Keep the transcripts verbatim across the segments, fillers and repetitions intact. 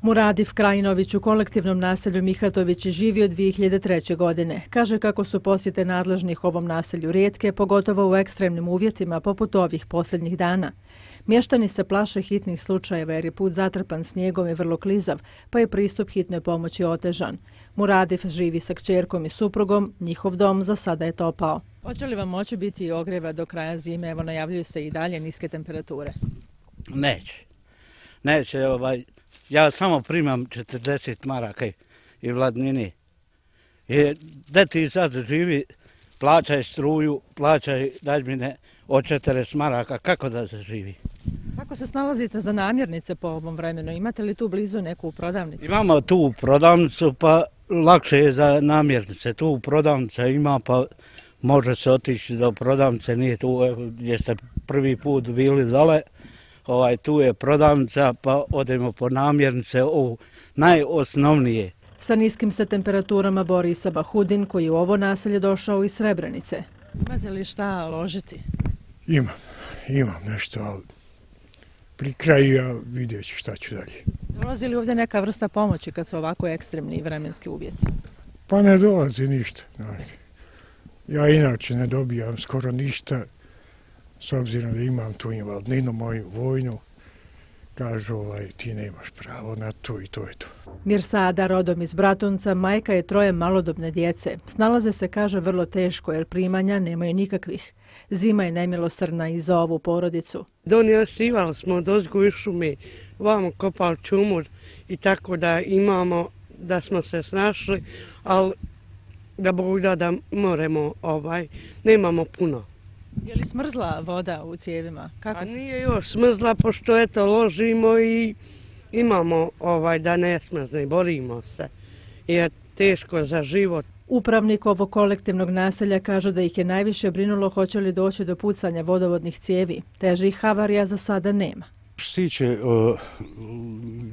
Muradif Krajinović u kolektivnom naselju Mihatović živi od dvije hiljade treće. godine. Kaže kako su posjete nadležnih ovom naselju rijetke, pogotovo u ekstremnim uvjetima poput ovih posljednjih dana. Mještani se plaše hitnih slučajeva jer je put zatrpan snijegom i vrlo klizav, pa je pristup hitnoj pomoći otežan. Muradif živi sa kćerkom i suprugom, njihov dom za sada je topao. Hoće li vam moći biti ogrjeva do kraja zime? Evo, najavljuju se i dalje niske temperature. Neće. Neće, ovaj, ja samo primam četrdeset maraka i vladnini. I da ti sad živi, plaćaj struju, plaćaj dažbine od četrdeset maraka, kako da se živi? Kako se snalazite za namirnice po ovom vremenu? Imate li tu blizu neku prodavnicu? Imamo tu prodavnicu, pa lakše je za namirnice. Tu prodavnica ima, pa može se otići do prodavnice, nije tu gdje ste prvi put bili dole. Ovaj, tu je prodavnica, pa odemo po namirnice, ovo najosnovnije. Sa niskim se temperaturama bori i Sabahudin, koji je u ovo naselje došao iz Srebrenice. Imate li šta ložiti? Imam, imam nešto, ali pri kraju ja vidjet ću šta ću dalje. Dolazi li ovdje neka vrsta pomoći kad su ovako ekstremni vremenski uvjeti? Pa ne dolazi ništa. Ja inače ne dobijam skoro ništa, s obzirom da imam tu invalidninu, moju vojnu. Kažu, ovaj, ti nemaš pravo na to i to je to. Mirsada, rodom iz Bratunca, majka je troje malodobne djece. Snalaze se, kaže, vrlo teško jer primanja nemaju nikakvih. Zima je nemilosrdna i za ovu porodicu. Donosivali smo dozgo iz šume, vamo kopali čumur i tako da imamo, da smo se snašli, ali da Bog da da moremo, ovaj, nemamo puno. Je li smrzla voda u cijevima? Kako A nije još smrzla, pošto eto ložimo i imamo ovaj da ne smrzne i borimo se. Je teško za život. Upravnik ovog kolektivnog naselja kaže da ih je najviše brinulo hoće li doći do pucanja vodovodnih cijevi. Težih havarija za sada nema. Što se tiče uh,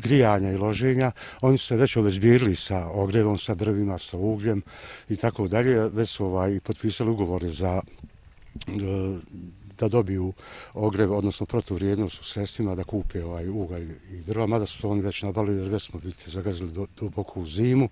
grijanja i loženja, oni su se već obezbijedili sa ogrjevom, sa drvima, sa ugljem i tako dalje. Već su ovaj, potpisali ugovore za da dobiju ogrjev, odnosno protuvrijednost u sredstvima da kupe ovaj ugalj i drva, mada su to oni već nabavili jer već smo biti zagazili duboko u zimu.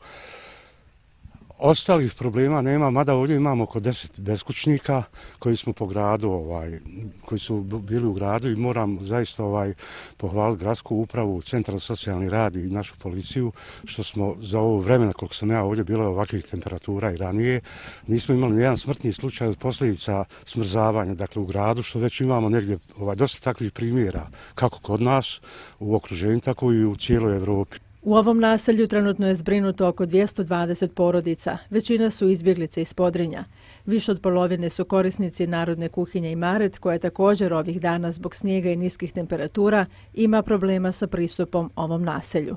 Ostalih problema nema, mada ovdje imamo oko deset beskućnika koji smo po gradu, ovaj, koji su bili u gradu i moram zaista ovaj, pohvaliti gradsku upravu, Centar za socijalni rad i našu policiju, što smo za ovo vremena koliko sam ja ovdje bilo ovakvih temperatura i ranije, nismo imali nijedan smrtni slučaj od posljedica smrzavanja, dakle u gradu, što već imamo negdje ovaj, dosta takvih primjera, kako kod nas u okruženju, tako i u cijeloj Evropi. U ovom naselju trenutno je zbrinuto oko dvjesto dvadeset porodica. Većina su izbjeglice iz Podrinja. Više od polovine su korisnici Narodne kuhinje Imaret, koja također ovih dana zbog snijega i niskih temperatura ima problema sa pristupom ovom naselju.